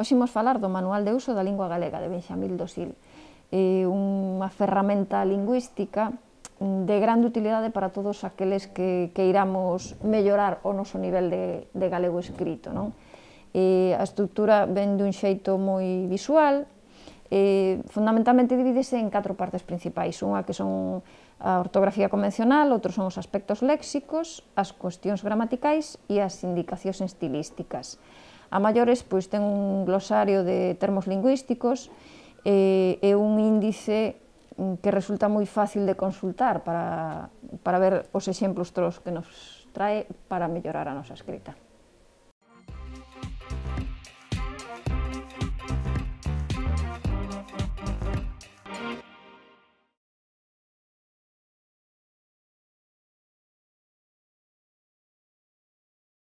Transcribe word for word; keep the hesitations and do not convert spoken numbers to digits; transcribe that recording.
Hoxe imos falar do Manual de Uso da Lingua Galega de Benxamín Dosil, é unha ferramenta lingüística de grande utilidade para todos aqueles que queiramos mellorar o noso nivel de, de galego escrito, non? E a estrutura ven dun xeito moi visual, e fundamentalmente divídese en catro partes principais, unha que son a ortografía convencional, outros son os aspectos léxicos, as cuestións gramaticais e as indicacións estilísticas. A maiores, pois, ten un glosario de termos lingüísticos e, e un índice que resulta moi fácil de consultar para, para ver os exemplos todos que nos trae para mellorar a nosa escrita.